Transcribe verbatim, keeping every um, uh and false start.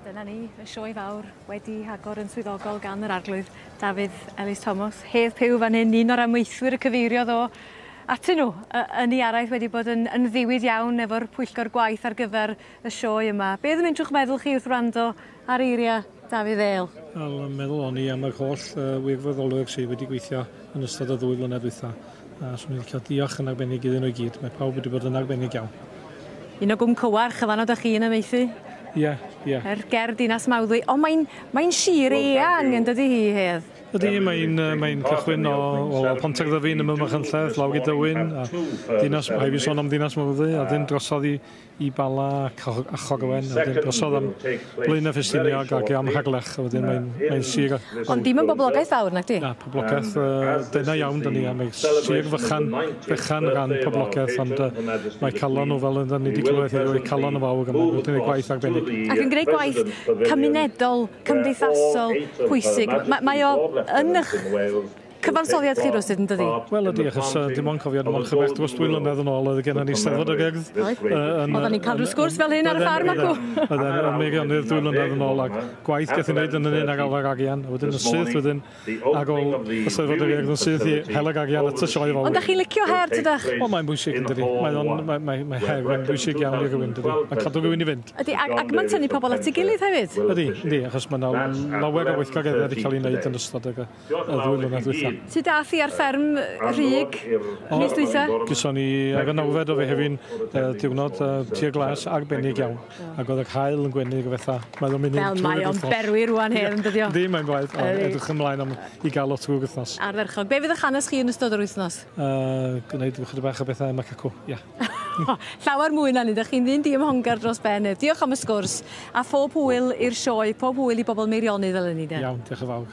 Dyna ni, y sioe fawr wedi agor yn swyddogol gan yr arglwydd Dafydd Elis Thomas. Hedd Pugh fan hyn, un o'r amaethwyr y cyfeiriodd o atyn nhw yn ei araith wedi bod yn, yn ddiwyd iawn efo'r pwyllgor gwaith ar gyfer y sioe yma. Be oedd yn mynd trwy'ch meddwl chi wrth wrando ar eiriau Dafydd El? Wel, meddwl o'n i am yr holl uh, wirfoddolwyr sydd wedi gweithio yn ystod y ddwy flynedd dwytha. A swn i'n licio diolch yn arbennig iddyn nhw i gyd. Mae pawb wedi bod yn arbennig iawn. Un o Gwm Cywarch, y fan oeddech chi yn amaethu? Ie, ie. Er ger Dinas Mawddwy. Ond mae'n mae sir eang yn dydy hi, Hedd? Ydy, mae'n mae cychwyn o, o Pontarddefin ym Machynlleth, lawr i Dywyn, a Dinas, rhaid fi sôn am Dinas Mawddwy, a dyn drosodd i, i Bala a Chorwen, a dyn drosodd am Blaenau Ffestiniog ac am Harlech, a wedyn mae'n mae sir... Ond dim yn boblogaeth fawr, nag di? Na, poblogaeth uh, dyna iawn dyn ni, a mae sir fychan, fychan ran poblogaeth, ond uh, mae calon nhw fel ydyn ni wedi clywed heddiw, mae calon yn fawr, a mae'n gwneud gwaith arbennig. Ac yn gwneud gwaith cymunedol, cymdeithasol, pwysig. Ma, mae o yn eich cyfansoddiad chi rywsut, yn dydi? Wel ydy, achos uh, dim ond cofio, dim ond chyfech dros dwy mlynedd yn ôl, oedd gennym ni Steddfod yr Urdd. Oedden ni'n cael rhyw sgwrs fel hyn ar y ffarm acw. Oedden yn Meirionnydd dwy mlynedd yn ôl, ac gwaith gath i wneud yn un ar ôl arian, a wedyn yn syth wedyn ar ôl y Steddfod yr Urdd yn syth i hel ag arian at y sioe fawr. Ond da chi'n licio her, tydach? O, mae'n bwysig, yn dydi. Mae, mae, mae her yn bwysig iawn i rywun, dydi. Mae'n cadw rhywun i fynd. Ydy, ac, ac mae'n tynnu pobl at ei gilydd hefyd? Ydy, ydy, achos mae yna lawer o weithgareddau wedi cael ei wneud yn ystod y ddwy mlynedd dwytha. Ti dath i ar fferm Rhug mis dwytha? Gyson ni ar y nawfed o Fehefin diwrnod tir glas arbennig iawn. Ac oedd yr haul yn gwenu o fatha. Mae o'n mynd Fel mae o'n berwi rwan hyn, yn dydi o? Yndi, mae'n blaid. Edrych ymlaen am i gael o trwy'r wythnos. Ardderchog. Be fydd eich hanes chi yn ystod yr wythnos? Gwneud chydig bach o bethau yma cacw, ia. Llawer mwy na ni, dych chi'n ddyn diymhongar dros ben. Diolch am y sgwrs, a phob hwyl i'r sioe, pob hwyl i bobl Meirionnydd fel ni. Iawn, diolch yn fawr.